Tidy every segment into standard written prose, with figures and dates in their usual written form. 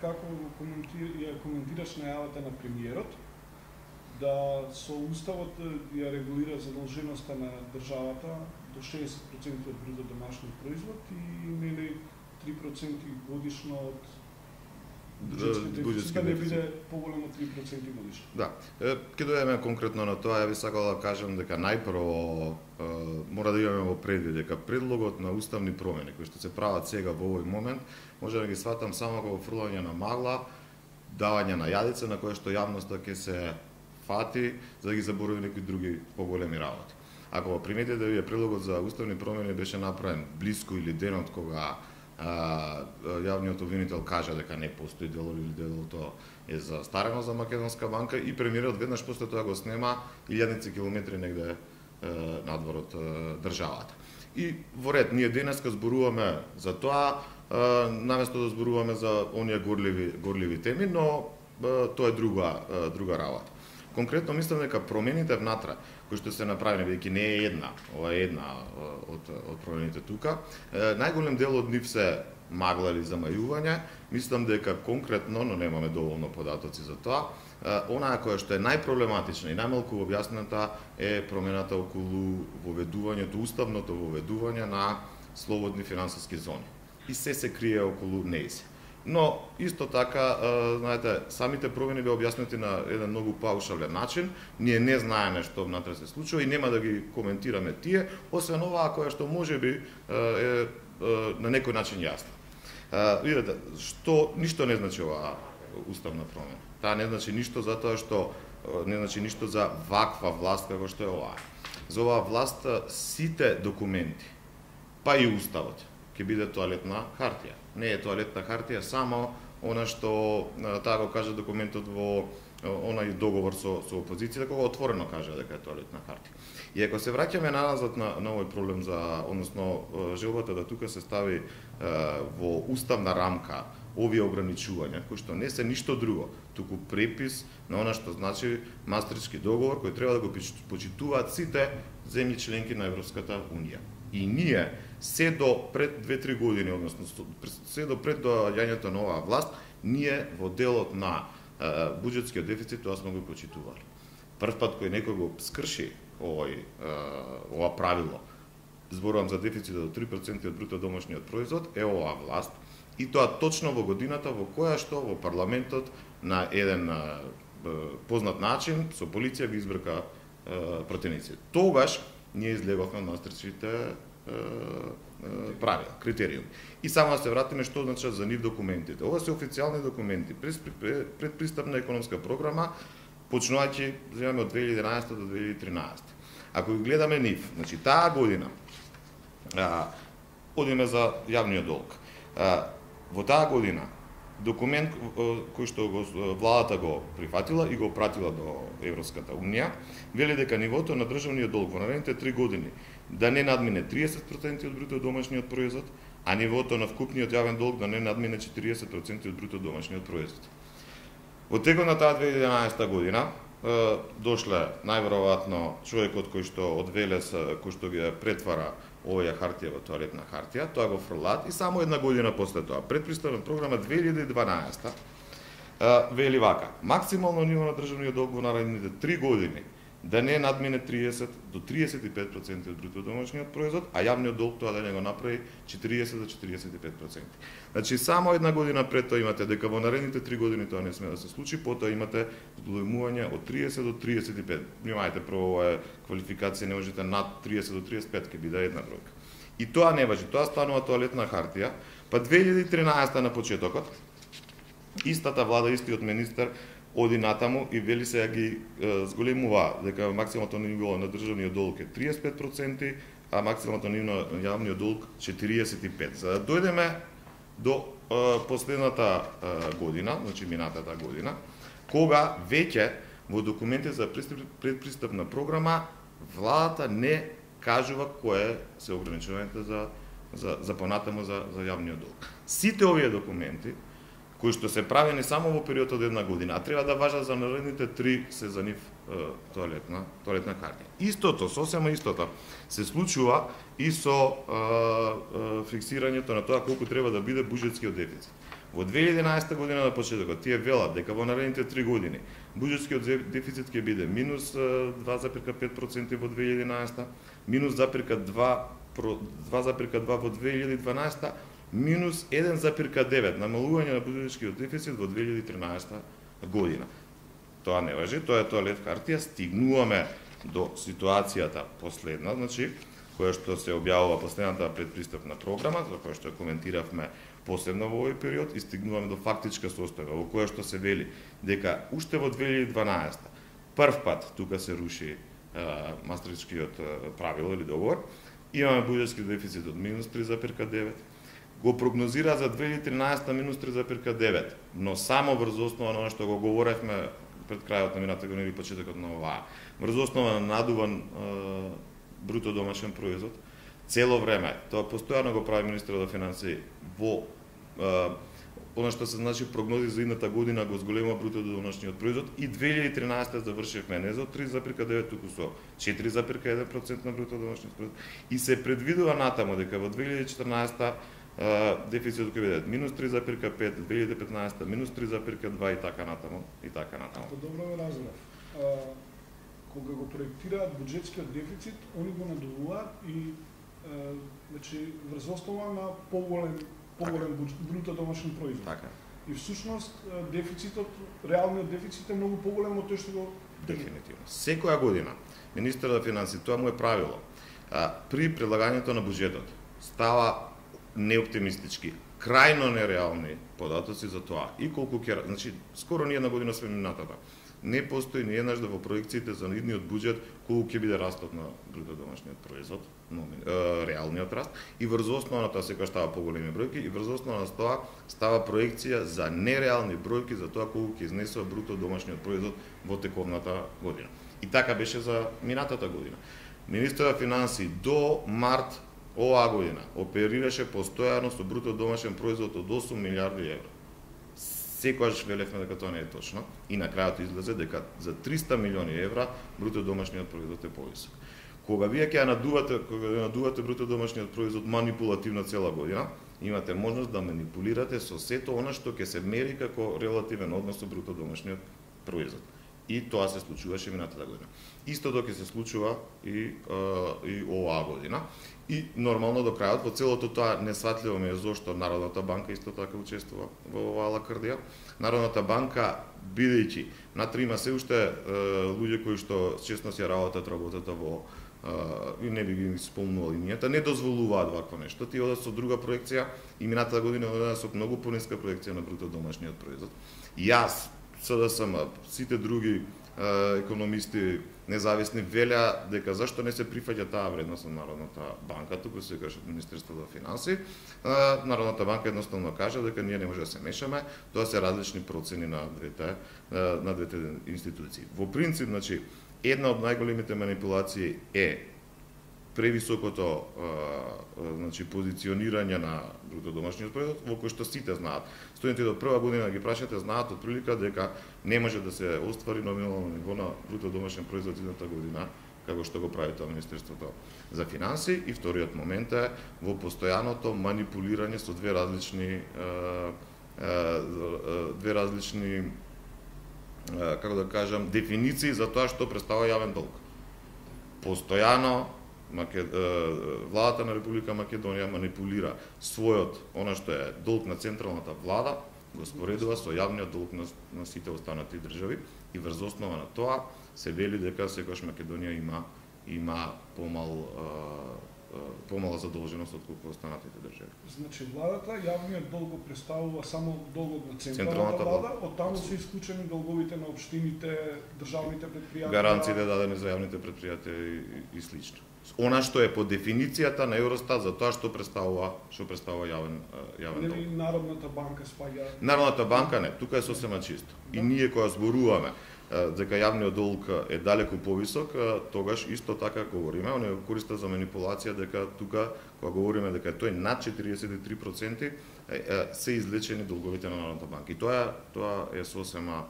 како ја коментираш најавата на премиерот, да со уставот ја регулира задолженоста на државата до 60% од бруто домашниот производ и нели 3% годишно од буџетските да биде поголемо 3% годишно. Да. Ќе дојдеме конкретно на тоа, ја би сакал да кажам дека најпрво мора да имаме во предвид дека предлогот на уставни промени кои што се прават сега во овој момент, може да ги сватам само како фрлање на магла, давање на јадица на кое што јавноста ќе се фати за да ги заборави некои други поголеми работи. Ако приметите да вие предлогот за уставни промени беше направен блиску или денот кога јавниот обвинител кажа дека не постои дело или делото е застарено за Македонска банка и премиерот веднаш после тоа го снема илјадници километри негде надвор од државата. И во ред, ние денеска зборуваме за тоа, наместо да зборуваме за оние горливи теми, но тоа е друга работа. Конкретно мислам дека промените внатре кои што се направени, бидејќи не е една, ова е една од промените тука, најголем дел од нив се магла или замајување. Мислам дека конкретно, но немаме доволно податоци за тоа, онаа која што е најпроблематична и најмалку објаснета е промената околу воведувањето, уставното воведување на слободни финансиски зони. И се крие околу нејзи. Но исто така, знаете, самите промени беа објаснети на еден многу паушален начин. Ние не знаеме што внатре се случува и нема да ги коментираме тие, освен оваа која што можеби е на некој начин јасна. Видете, што ништо не значи оваа уставна промена. Таа не значи ништо затоа што не значи ништо за ваква власт како што е оваа. За оваа власт сите документи, па и уставот, ќе биде тоалетна хартија. Не е тоалетна хартија само она што таа го кажа документот во онај договор со опозицијата, кога отворено кажа дека е тоалетна хартија. И ако се враќаме назад на овој проблем за, односно желбата да тука се стави во уставна рамка овие ограничувања, кои што не се ништо друго, туку препис на она што значи Мастрихтски договор, кој треба да го почитуваат сите земји членки на Европската унија. И ние се до пред 2-3 години, односно се до пред доаѓањето на оваа власт, ние во делот на буџетскиот дефицит тоа сме го почитували. Прв пат кој некој го скрши ова правило, зборувам за дефицит до 3% од бруто домашниот производ, е оваа власт, и тоа точно во годината во која што во парламентот на еден познат начин со полиција ги избрка противниците. Тогаш ние излеговме од Мастрихтските правила, критериуми. И само да се вратиме што значат за нив документите. Ова се официјални документи, предпристапна економска програма, почнувајќи земаме од 2011 до 2013. Ако ги гледаме нив, значи таа година, одиме за јавниот долг. Во таа година, документ кој што владата го прифатила и го пратила до Европската унија, вели дека нивото на државниот долг во наредните 3 години да не надмине 30% од бруто домашниот производ, а нивото на вкупниот јавен долг да не надмине 40% од бруто домашниот производ. Во текот на таа 2011 година дошле најверојатно човекот кој што од Велес, кој што ги претвара оваа хартија во тоалетна хартија, тоа го фрлат и само една година после тоа, предпристапна програма 2012 вели вака: максимално ниво на државниот долг во наредните 3 години да не надмине 30 до 35% од бруто домашниот производ, а јавниот долг тоа да не го направи 40 до 45%. Значи само една година пред тоа имате дека во наредните 3 години тоа не сме да се случи, потоа имате зголемување од 30 до 35. Внимајте, прво е квалификација, не можете над 30 до 35, ќе биде една бројка. И тоа не важи, тоа станува тоалетна хартија, па 2013 на почетокот истата влада, истиот министер оди натаму и вели се ги зголемува дека максималното ниво на државниот долг е 35%, а максималното ниво на јавниот долг 45%. За да дојдеме до последната година, значи минатата година, кога веќе во документите за предпристапна програма владата не кажува кое се ограничувањата за понатаму за јавниот долг. Сите овие документи кои што се правени само во период од една година, а треба да важат за наредните 3 се за нив тоалетна хартија. Истото, сосема истото, се случува и со фиксирањето на тоа колку треба да биде буџетскиот дефицит. Во 2011 година на почетокот тие велат дека во наредните 3 години буџетскиот дефицит ќе биде минус 2,5% во 2011, минус 2,2% во 2012, минус 1,9% намалување на буџетскиот дефицит во 2013 година. Тоа не важи, тоа е тоалет хартија, стигнуваме до ситуацијата последна, значи, која што се објавува последната предпристапна програма, за која што коментиравме посебно во овој период, и стигнуваме до фактичка состојба, во која што се вели дека уште во 2012 прв пат тука се руши Мастрихтскиот правило или договор, имаме буџетски дефицит од минус 3,9%, го прогнозира за 2013 минус 3,9%, но само врз основа на она што го говоревме пред крајот на минатата година или почетокот на оваа, врз основа на надуван бруто домашен производ, цело време, тоа постојано го прави министерот на финансии во она што се значи прогнози за идната година го зголемува бруто домашниот производ и 2013 завршивме не за 3,9, туку со 4,1% на бруто домашниот производ и се предвидува натаму дека во 2014 дефицитот ќе биде минус 3,5, 2015 минус 3,2 и така натаму, и така натаму. Ако добро ме разбрав, кога го проектираат буџетскиот дефицит, они го надувуваат и значи врз основа на поголем бруто домашен производ. Така. И всушност дефицитот, реалниот дефицит е многу поголем од тој што го дефинитивно. Секоја година министерот на финансии, тоа му е правило, при предлагањето на буџетот става неоптимистички, крајно нереални податоци за тоа. И колку ќе, значи скоро ни една година сме минатата. Не постои ни еднаш да во проекциите за идниот буџет колку ќе биде растот на бруто домашниот производ, реалниот раст, и врз основа на тоа секогаш става поголеми бројки, и врз основа на тоа става проекција за нереални бројки за тоа колку ќе изнесува бруто домашниот производ во тековната година. И така беше за минатата година. Министерот на финансии до март оваа година оперираше постојано со бруто домашен производ од 8 милиарди евра. Секогаш велевме дека тоа не е точно и на крајот излезе дека за 300 милиони евра бруто домашниот производ е повисок. Кога вие ќе надувате бруто домашниот производ манипулативно цела година, имате можност да манипулирате со сето она што ќе се мери како релативен однос со бруто домашниот производ. И тоа се случуваше минатата година. Истото ќе се случува и оваа година. И нормално до крајот во целото тоа несватливо ми е зошто Народната банка исто така учествува во оваа лакрдија. Народната банка, бидејќи натре има се уште луѓе кои што честно си работата во и не би ги спомнувал имињата, не дозволуваат вакво нешто. Тие одат со друга проекција и минатата година одат со многу пониска проекција на бруто домашниот производ. Јас, СДСМ, сите други економисти независни велеа дека зашто не се прифаќа таа вредност на Народната банка, туку се каже Министерството на финансии. Народната банка едноставно кажа дека ние не може да се мешаме, тоа се различни процени на двете институции. Во принцип, значи, една од најголемите манипулации е превисокото значи позиционирање на бруто домашниот производ, во кој што сите знаат. Студентите од прва година ги прашате знаат од прилика дека не може да се оствари номинално ниво на бруто домашен производ идната година, како што го прави тоа Министерството за финансии. И вториот момент е во постојаното манипулирање со две различни како да кажам дефиниции за тоа што представува јавен долг. Постојано владата на Република Македонија манипулира својот, она што е долг на централната влада, го споредува со јавниот долг на сите останати држави и врз основа на тоа се вели дека секогаш Македонија има помала задолженост од колку останатите држави. Значи владата јавниот долг го представува само долгот на централната влада, од таму се исклучени долговите на општините, државните предпријатија, гаранциите дадени за јавните предпријатија и слично. Она што е по дефиницијата на Евростат за тоа што представува јавен долг. Нели Народната банка спаѓа? Народната банка не, тука е сосема чисто. И ние кога зборуваме дека јавниот долг е далеку повисок, тогаш исто така говориме, они го користат за манипулација дека тука кога говориме дека тој над 43% се излечени долговите на Народната банка. И тоа е сосема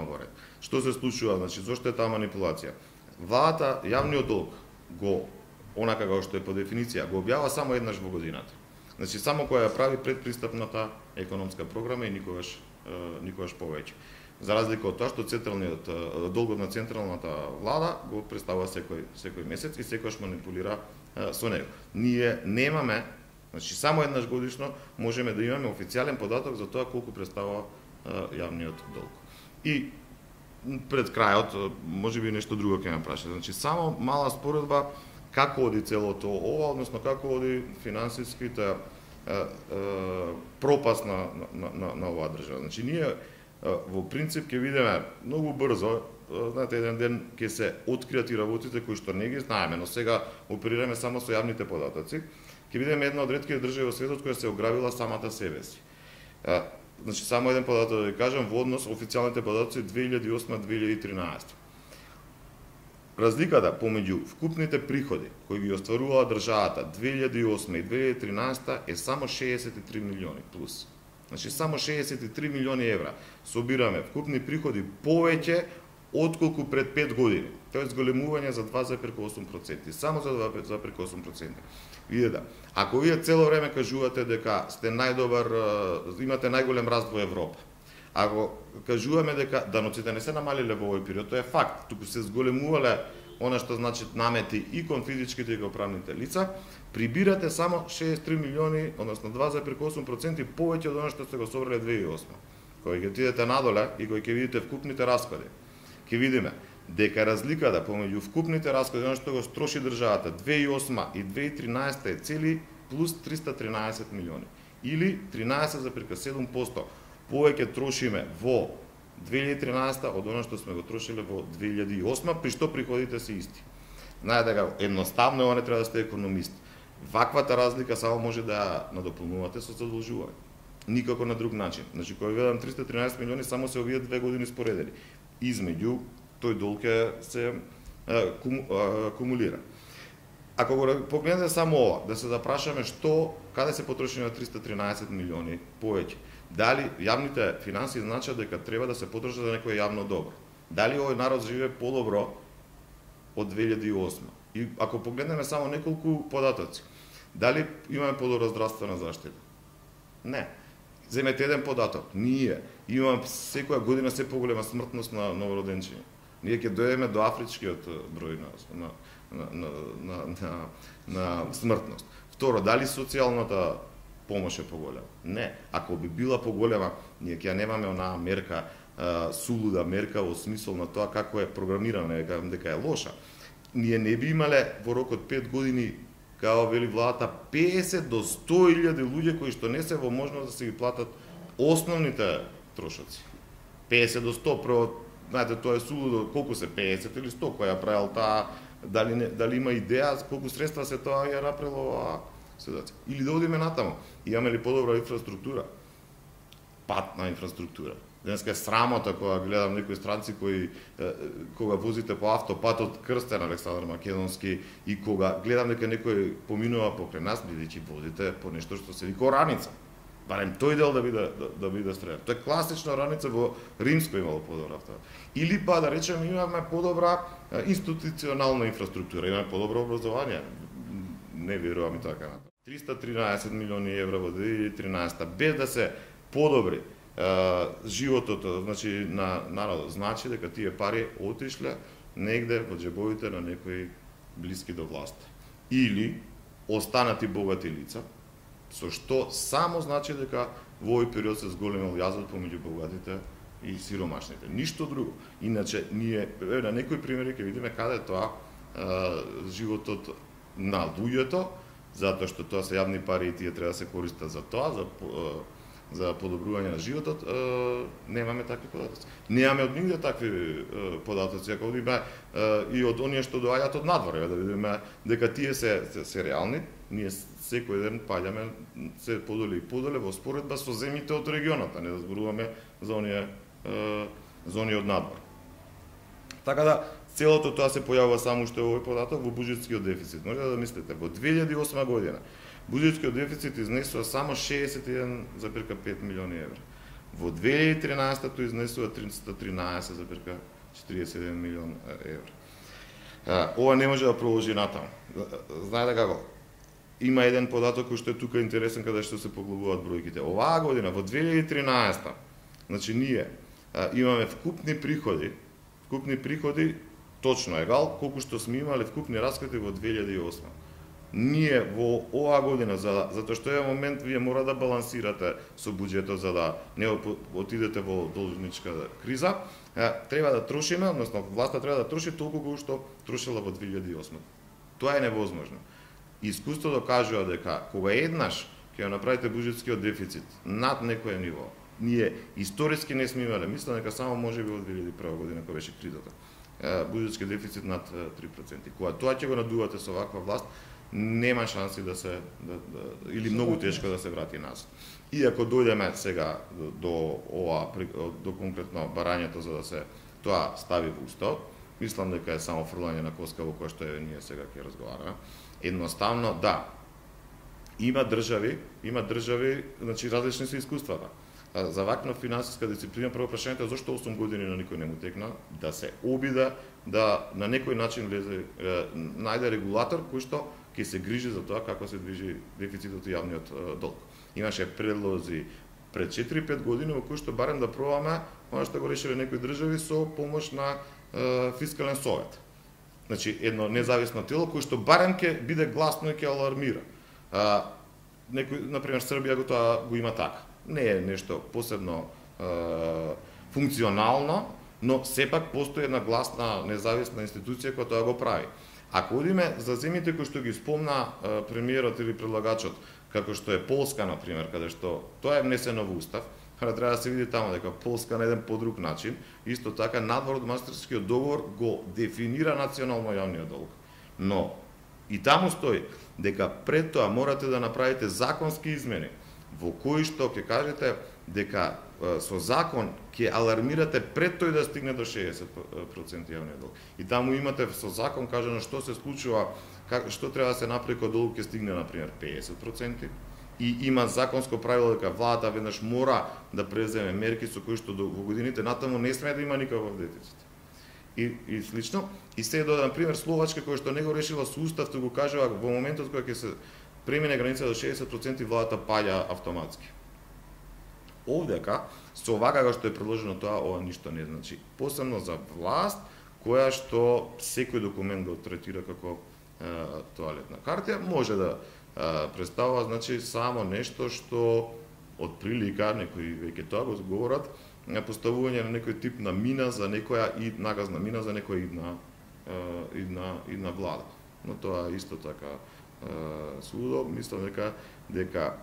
во ред. Што се случува, значи зошто е таа манипулација? Владата јавниот долг го онака како што е по дефиниција го објавува само еднаш во годината. Значи само која ја прави предпристапната економска програма и никогаш повеќе. За разлика од тоа што централниот долгот на централната влада го представува секој месец и секогаш манипулира со него. Ние немаме, значи само еднаш годишно можеме да имаме официјален податок за тоа колку представува јавниот долг. И пред крајот, можеби нешто друго ќе ме праша. Значи само мала споредба како оди целото ова, односно како оди финансиските пропаст на оваа држава. Значи ние во принцип ќе видиме многу брзо, знаете, еден ден ќе се откријат и работите кои што не ги знаеме, но сега оперираме само со јавните податоци. Ќе видиме една од ретките држави во светот која се ограбила самата себе си. Значи само еден податок да ви кажам во однос официјалните податоци 2008-2013. Разликата помеѓу вкупните приходи кои ги остварувала државата 2008 и 2013 е само 63 милиони плюс. Значи само 63 милиони евра собираме вкупни приходи повеќе отколку пред 5 години. Тоа е зголемување за 2,8%, само за 2,8%. Видете, ако вие цело време кажувате дека сте најдобар, имате најголем раст во Европа, ако кажуваме дека даноците не се намалиле во овој период, тоа е факт, туку се зголемувале она што значи намети и кон физичките и кон правните лица, прибирате само 63 милиони, односно 2,8% повеќе од она што сте го собрале 2008. Кога ќе отидете надоле и кога ќе видите вкупните расходи, ќе видиме дека разликата помеѓу вкупните расходи, она што го троши државата 2008 и 2013 е цели плюс 313 милиони, или 13,7% повеќе трошиме во 2013 од она што сме го трошиле во 2008, при што приходите се исти. Знаете дека едноставно ова не треба да сте економист. Ваквата разлика само може да ја надополнувате со задолжување. Никако на друг начин. Значи кога видам 313 милиони само се овие 2 години споредени. Измеѓу тој долг се кумулира. Ако го погледнете само ова, да се запрашаме каде се потрошени 313 милиони повеќе. Дали јавните финанси значат дека треба да се потрошат за некое јавно добро? Дали овој народ живее подобро од 2008? И ако погледнеме само неколку податоци, дали имаме подобра здравствена заштита? Не. Земете еден податок. Ние имаме секоја година се поголема смртност на новороденчиња. Ние ќе дојдеме до афричкиот број на смртност. Второ, дали социјалната помош е поголема? Не. Ако би била поголема, ние ќе немаме онаа мерка, сулуда мерка во смисол на тоа како е програмирана, дека е лоша. Ние не би имале во рок од 5 години, како вели владата, 50 до 100.000 луѓе кои што не се во можност да се ги платат основните трошоци. 50 до 100, прво, знаете, тоа е сулудо, колку се 50 или 100 која правил таа, дали има идеја колку средства се тоа ја направило оваа ситуација. Или да одиме натаму, имаме ли подобра инфраструктура? Патна инфраструктура. Денеска е срамота кога гледам некои странци кои кога возите по автопатот Крстен Александар Македонски и кога гледам дека некој поминува покрај нас, бидејќи возите по нешто што се вика раница. Барем тој дел да биде строен. Тоа е класична раница, во Римско имало подобра автопат. Или па да речеме имаме подобра институционална инфраструктура, имаме подобро образование. Не верувам и така натаму. 313 милиони евра во 2013 без да се подобри животот, значи на народот, значи дека тие пари отишле негде во џебовите на некои блиски до власт. Или останати богати лица, со што само значи дека во овој период се зголемил јазот помеѓу богатите и сиромашните. Ништо друго. Иначе ние на некои примери ќе видиме каде тоа животот на луѓето, затоа што тоа се јавни пари и тие треба да се користат за тоа, за подобрување на животот, немаме такви податоци. Немаме од нигде такви податоци, ако видиме и од оние што доаѓаат од надвор, да видиме дека тие се реални, ние секој ден паѓаме се подоле и подоле во споредба со земјите од регионот, а не да зборуваме за оние од надвор. Така да, целото тоа се појавува само што е овој податок во буџетскиот дефицит. Може да мислите, во 2008 година буџетскиот дефицит изнесува само 61,5 милиони евра. Во 2013 тој изнесува 313,41 милион евра. Ова не може да продолжи натаму. Знаете како? има еден податок кој што е тука интересен каде што се поглобуваат бројките. Оваа година во 2013, значи ние имаме вкупни приходи точно егал колку што сме имале вкупни расходи во 2008. Ние во оваа година затоа што е момент вие мора да балансирате со буџетот за да не отидете во должничка криза, треба да трошиме, односно власта треба да троши толку колку што трошила во 2008. Тоа е невозможно. Искуството кажува дека кога еднаш ќе направите буџетскиот дефицит над некое ниво, ние историски не сме имале, мислам дека само можеби во 2001 година кога беше кризата, буџетски дефицит над 3%. Кога тоа ќе го надувате со ваква власт, нема шанси да се или многу тешко да се врати назад. И ако дојдеме сега до конкретно барањето за да се тоа стави во уставот, мислам дека е само фрлање на коска во која што ние сега ќе разговараме. Едноставно да. Има држави, значи различни се искуствата. За ваква финансиска дисциплина прво прашањето е зошто 8 години на никој не му текна да се обиде да на некој начин влезе најде регулатор кој што ќе се грижи за тоа како се движи дефицитот и јавниот долг. Имаше предлози пред 4-5 години во кои што барем да пробаме она што го решиле некои држави со помош на фискален совет. Значи едно независно тело кој што барем ќе биде гласно и ќе алармира. Некој, например, Србија го има така. Не е нешто посебно функционално, но сепак постои една гласна независна институција која тоа го прави. Ако одиме за земјите кои што ги спомна премиерот или предлагачот, како што е Полска, например, каде што тоа е внесено во устав, треба да се види таму дека Полска на еден подруг начин, исто така надвор од Мастрихтскиот договор го дефинира национално јавниот долг. Но и таму стои дека пред тоа морате да направите законски измени во кои што ќе кажете дека со закон ќе алармирате пред тој да стигне до 60% јавниот долг. И таму имате со закон кажано што се случува, што треба да се направи кога долг ќе стигне на пример 50%. И има законско правило дека владата веднаш мора да преземе мерки со кои што во годините натаму не смее да има никаков дефицит. И слично. И се дода, например, Словачка, која што не го решила со устав, тоа го кажува во моментот кога ќе се премине граница до 60%, владата паѓа автоматски. Овдека, со овака како што е предложено тоа, ова ништо не значи. Посебно за власт, која што секој документ го третира како тоалетна картија, може да представува, значи, само нешто што од прилика, некои веќе тоа го говорат, поставување на некој тип на мина за некоја нагазна мина за некоја идна влада. Но тоа исто така судо, мислам дека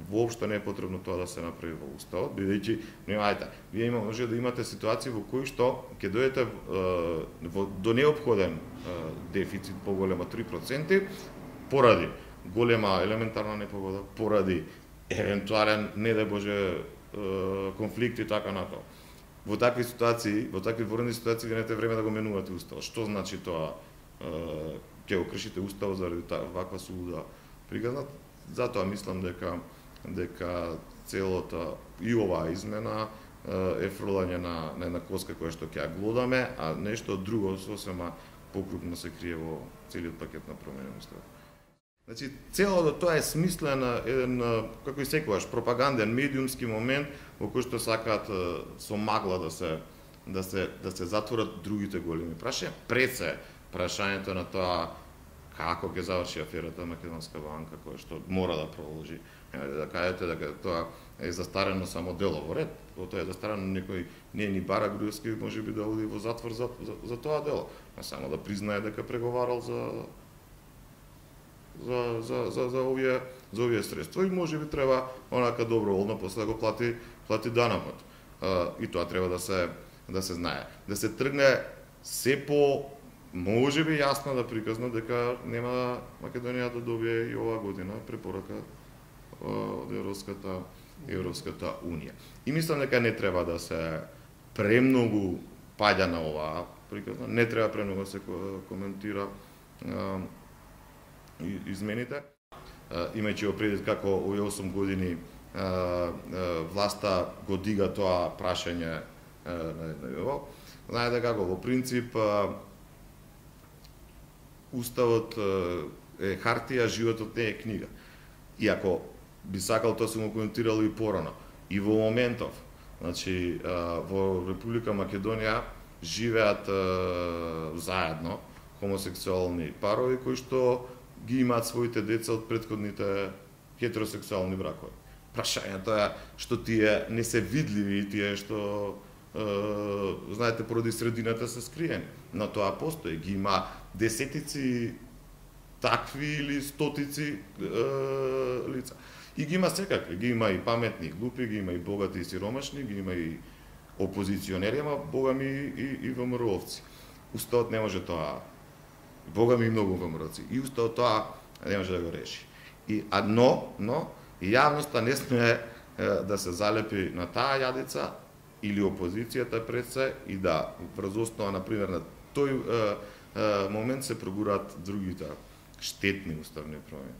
воопшто не е потребно тоа да се направи во уставот, бидејќи вие може да имате ситуации во кои што ќе дојдете до неопходен дефицит поголем од 3% поради голема елементарна непогода, поради евентуален, не дај Боже, конфликт и така натаму. Во такви ситуации, во такви военни ситуации, ви немате време да го менувате уставот. Што значи тоа? Ќе го кршите уставот заради ваква сулуда приказна? Затоа мислам дека целата и оваа измена е фрлање на една коска која што ќе ја глодаме, а нешто друго сосема покрупно се крие во целиот пакет на промени на уставот. Значи, целото тоа е смислен еден, како и секогаш, пропаганден, медиумски момент во кој што сакаат со магла да се затворат другите големи прашања, пред се прашањето на тоа како ќе заврши аферата Македонска банка, која што мора да продолжи. Да кажете дека тоа е застарено само делово ред, тоа е застарено некој не ни Бара Груевски можеби да оди во затвор за тоа дело, а само да признае дека преговарал за овие средства и можеби треба онака доброволно после да го плати данокот. И тоа треба да се знае. Да се тргне се по можеби јасно да приказно дека нема Македонија да добие и оваа година препорака од Европската унија. И мислам дека не треба да се премногу паѓа на оваа приказна, не треба премногу да се коментира измените. Имајќи во предвид како овие 8 години власта го дига тоа прашање на ниво. Знаете како, во принцип, Уставот е хартија, животот не е книга. И ако би сакал, тоа сум го коментирал и порано, и во моментов, значи во Република Македонија живеат заедно хомосексуални парови кои што ги имаат своите деца од претходните хетеросексуални бракови. Прашањето е што тие не се видливи, тие што знаете, поради средината се скриени. Но тоа постои, ги има десетици такви или стотици лица. И ги има секакви, ги има и паметни, и глупи, ги има и богати и сиромашни, ги има и опозиционери, ама богами и ВМРО-овци. Уставот не може тоа, богами и многу ВМРО-овци, и уставот тоа не може да го реши. Но јавноста не сме да се залепи на таа јадица или опозицијата пред се и да врз основа, например, на тој момент се прогураат другите штетни уставни промени.